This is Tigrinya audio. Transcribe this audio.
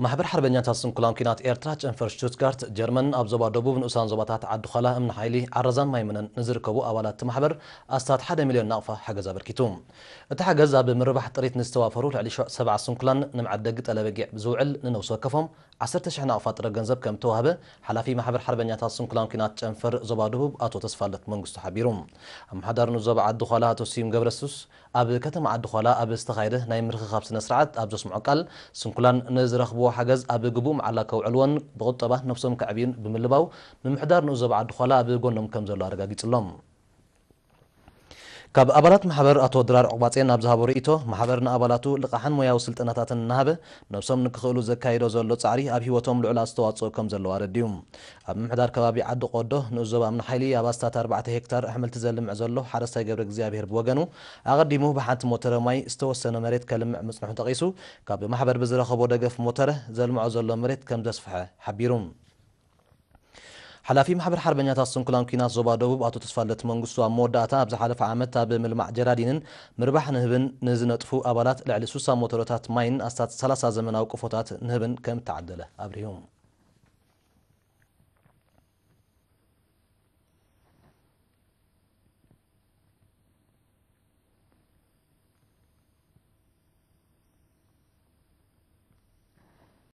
ማሕበር ሓርበኛታት ስንኩላን ኲናት ኤርትራ ጨንፈር ሽቱትጋርት ጀርመን ኣብ ዞባ ደቡብ ንኡሳን ዞባታት ዓዲ ዃላ፣ እምኒ ሓይሊ፣ ዓረዛን ማይመነን ንዝርከቡ ኣባላት እቲ ማሕበር ኣስታት ሓደ ሚልዮን ናቕፋ ሓገዝ ኣበርኪቱ። እቲ ሓገዝ ኣብ ምርባሕ ጥሪት ንዝተዋፈሩ ልዕሊ ሸ- ሰብዓ ስንኩላን ንመዐደጊ ጠለበጊዕ ዝውዕል ንነብሲ ወከፎም ዓሰርተ ሽሕ ናቕፋ ጥረ ገንዘብ ከም ተዋህበ ሓላፊ ማሕበር ሓርበኛታት ስንኩላን ኲናት ጨንፈር ዞባ ደቡብ ኣቶ ተስፋለት መንግስቱ ሓቢሩ። ኣመሓዳሪ ንኡስ ዞባ ዓዲ ዃላ ኣቶ ስዩም ገብረሱስ ኣብ ከተማ ዓዲ ዃላ ኣብ ዝተኻየደ ናይ ምርኽኻብ ስነ ስርዓት ኣብ ዘስምዖ ቃል፣ ስንኩላን ንዝረኽብዎ ሓገዝ ኣብ ግቡእ መዓላ ከውዕልዎን ብቁጠባ ነብሶም ከዕብዩን ብምልባው፣ ምምሕዳር ንኡስ ዞባ ዓዲ ዃላ ኣብ ጎኖም ከም ዘሎ ኣረጋጊጹሎም። ካብ ኣባላት ማሕበር ኣቶ ድራር ዕቑባጼ ናብ ዝሃቦ ርእይቶ፣ ማሕበር ንኣባላቱ ልቓሕን ሞያዊ ስልጠናታትን እናሃበ ነብሶም ንክኽእሉ ዘካይዶ ዘሎ ጻዕሪ ኣብ ህይወቶም ልዑል ኣስተዋጽኦ ከም ዘለዎ ኣረድዩ። ኣብ ምምሕዳር ከባቢ ዓዲ ቆዶ ንኡስ ዞባ እምኒ ሓይሊ ኣብ ኣስታት ኣርባዕተ ሄክታር ኣሕምልቲ ዘልምዕ ዘሎ ሓረስታይ ገብረ እግዚኣብሔር ብወገኑ፣ ኣቐዲሙ ብሓንቲ ሞተረ ማይ ዝተወሰነ መሬት ከልምዕ ምጽንሑ ጠቒሱ፣ ካብ ማሕበር ብዝረኸቦ ደገፍ ሞተረ ዘልምዖ ዘሎ መሬት ከም ዘስፍሐ ሓቢሩ። ሓላፊ ማሕበር ሓርበኛታት ስንኩላን ኲናት ዞባ ደቡብ ኣቶ ተስፋለት መንግስቱ ኣብ መወዳእታ፣ ኣብ ዝሓለፈ ዓመት ኣብ ምልማዕ ጀራዲንን ምርባሕ ንህብን ንዝነጥፉ ኣባላት ልዕሊ ሱሳ ሞተረታት ማይን ኣስታት ሰላሳ ዘመናዊ ቆፎታት ንህብን ከም እተዓደለ ኣብሪሁ።